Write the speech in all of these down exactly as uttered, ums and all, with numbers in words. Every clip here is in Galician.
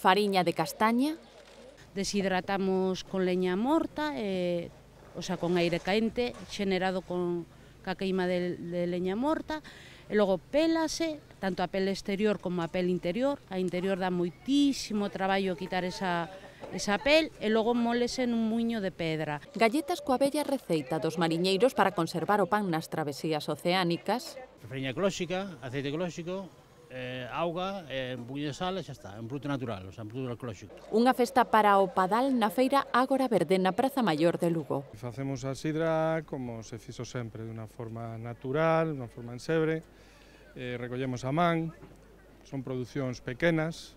fariña de castaña. Deshidratamos con leña morta, eh, o sea, con aire quente, xenerado con ca queima de, de leña morta, e logo pélase, tanto a pele exterior como a pele interior. A interior dá moitísimo traballo quitar esa, esa pel, e logo mólese nun muiño de pedra. Galletas coa bella receita dos mariñeiros para conservar o pan nas travesías oceánicas. Fariña ecolóxica, aceite ecolóxico, eh, auga, eh, un poquinho de sal e xa está, é un produto natural, o sea, un produto ecolóxico. Unha festa para o Padal na feira Ágora Verde na Praza Maior de Lugo. Facemos a sidra como se fixo sempre, de unha forma natural, de unha forma ensebre, eh, recollemos a man, son producións pequenas,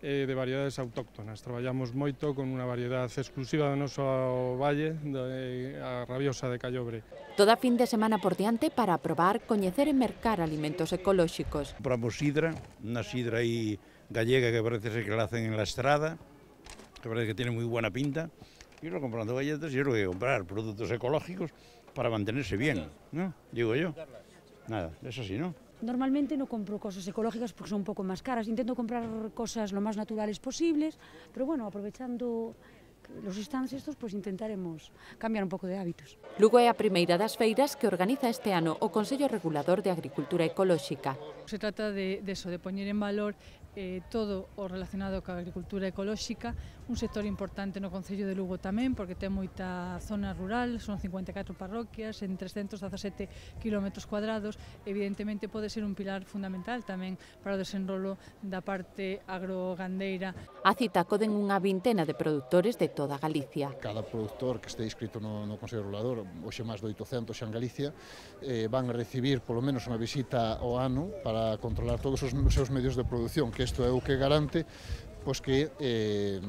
eh, de variedades autóctonas. Traballamos moito con unha variedade exclusiva do noso valle, de, a rabiosa de Callobre. Toda fin de semana por diante para probar, coñecer e mercar alimentos ecolóxicos. Compramos sidra, unha sidra aí gallega que parece ser que la hacen en la Estrada, que parece que tiene muy buena pinta, y luego comprando galletas y luego hay que comprar productos ecológicos para mantenerse bien, ¿no? Digo yo. Nada, es así, ¿no? Normalmente no compro cosas ecológicas porque son un pouco máis caras. Intento comprar cosas lo máis naturales posibles, pero bueno, aprovechando los stands estos, pues intentaremos cambiar un pouco de hábitos. Lugo é a primeira das feiras que organiza este ano o Consello Regulador de Agricultura Ecolóxica. Se trata de, de eso, de poñer en valor eh, todo o relacionado ca agricultura ecolóxica, un sector importante no Concello de Lugo tamén, porque ten moita zona rural, son cincuenta e catro parroquias, en trescentos dezasete kilómetros cuadrados, evidentemente pode ser un pilar fundamental tamén para o desenrolo da parte agrogandeira. A cita coden unha vintena de produtores de toda Galicia. Cada productor que este inscrito no, no Consello Regulador, hoxe máis de oitocentos xa en Galicia, eh, van a recibir polo menos unha visita ao ano para controlar todos os seus medios de produción, que isto é o que garante pois que eh,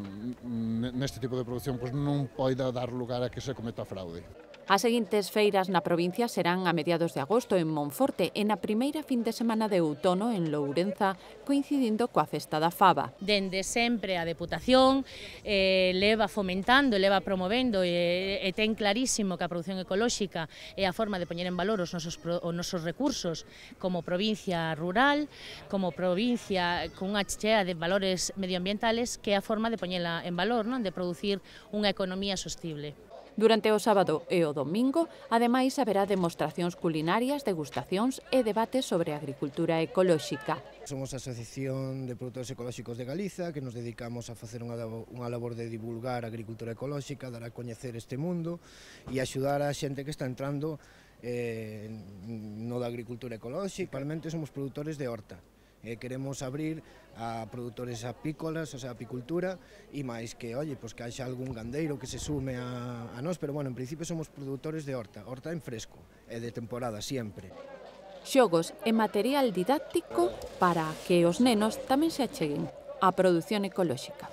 neste tipo de produción pois non poida dar lugar a que se cometa fraude. As seguintes feiras na provincia serán a mediados de agosto en Monforte e na primeira fin de semana de outono en Lourenza, coincidindo coa Festa da Faba. Dende sempre a Deputación eh, leva fomentando, leva promovendo e, e ten clarísimo que a produción ecolóxica é a forma de poñer en valor os nosos, os nosos recursos como provincia rural, como provincia con unha chea de valores medioambientales, que é a forma de poñela en valor, non? De producir unha economía sostible. Durante o sábado e o domingo, ademais, haberá demostracións culinarias, degustacións e debates sobre agricultura ecolóxica. Somos a Asociación de Produtores Ecolóxicos de Galiza, que nos dedicamos a facer unha, unha labor de divulgar a agricultura ecolóxica, dar a coñecer este mundo e axudar a xente que está entrando eh, no da agricultura ecolóxica. Realmente somos produtores de horta. Eh, queremos abrir a produtores apícolas, o sea, apicultura, e máis que, oye, pues que haxa algún gandeiro que se sume a, a nós, pero bueno, en principio somos produtores de horta, horta en fresco, e de temporada, sempre. Xogos e material didáctico para que os nenos tamén se acheguen á produción ecolóxica.